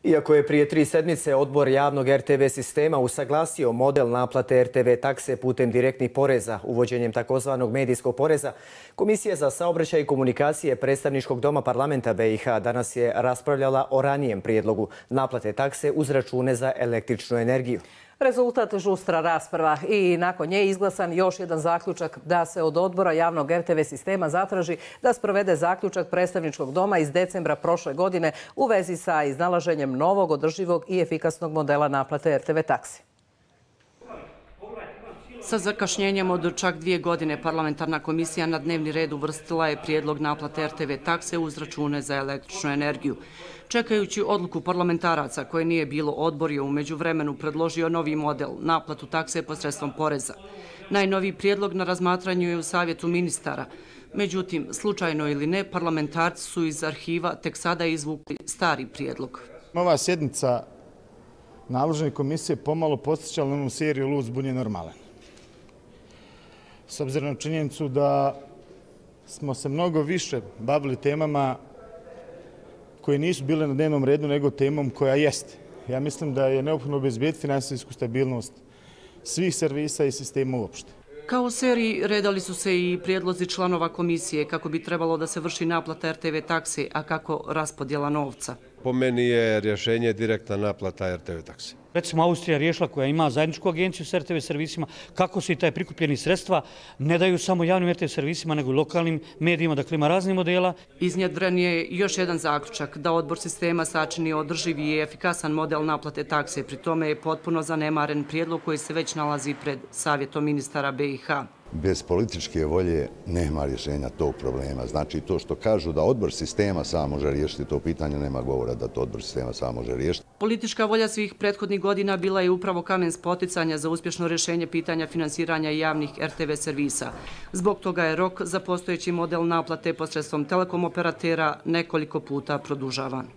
Iako je prije 3 sedmice odbor javnog RTV sistema usaglasio model naplate RTV takse putem direktnih poreza, uvođenjem takozvanog medijskog poreza, Komisija za saobraćaj i komunikacije Predstavničkog doma parlamenta BiH danas je raspravljala o ranijem prijedlogu naplate takse uz račune za električnu energiju. Rezultat žustra rasprava i nakon nje izglasan još jedan zaključak da se od odbora javnog RTV sistema zatraži da sprovede zaključak Predstavničkog doma iz decembra prošle godine u vezi sa iznalaženjem novog, održivog i efikasnog modela naplate RTV taksi. Sa zakašnjenjem od čak 2 godine parlamentarna komisija na dnevni red uvrstila je prijedlog naplate RTV takse uz račune za električnu energiju. Čekajući odluku parlamentaraca koje nije bilo, odbor je u međuvremenu predložio novi model, naplatu takse posredstvom poreza. Najnoviji prijedlog na razmatranju je u Savjetu ministara. Međutim, slučajno ili ne, parlamentarci su iz arhiva tek sada izvukli stari prijedlog. Ova sjednica nadležne komisije pomalo podsjećala na onu seriju Lud, zbunjen, normalan. S obzirom na činjenicu da smo se mnogo više bavili temama koje nisu bile na dnevnom redu nego temom koja jeste. Ja mislim da je neophodno obezbediti finansijsku stabilnost svih servisa i sistema uopšte. Kao u seriji redali su se i prijedlozi članova komisije kako bi trebalo da se vrši naplata RTV takse, a kako raspodjela novca. Po meni je rješenje direktna naplata RTV takse. Recimo Austrija riješila koja ima zajedničku agenciju s RTV servisima, kako se i taj prikupljeni sredstva ne daju samo javnim RTV servisima nego i lokalnim medijima, dakle ima raznih modela. Iznjedren je još jedan zaključak da odbor sistema sačini održivi i efikasan model naplate takse, pri tome je potpuno zanemaren prijedlog koji se već nalazi pred Savjetom ministara BiH. Bez političke volje nema rješenja tog problema. Znači to što kažu da odbor sistema sam može riješiti to pitanje, nema govora da to odbor sistema sam može riješiti. Politička volja svih prethodnih godina bila je upravo kamen spoticanja za uspješno rješenje pitanja finansiranja javnih RTV servisa. Zbog toga je rok za postojeći model naplate posredstvom telekom operatera nekoliko puta produžavan.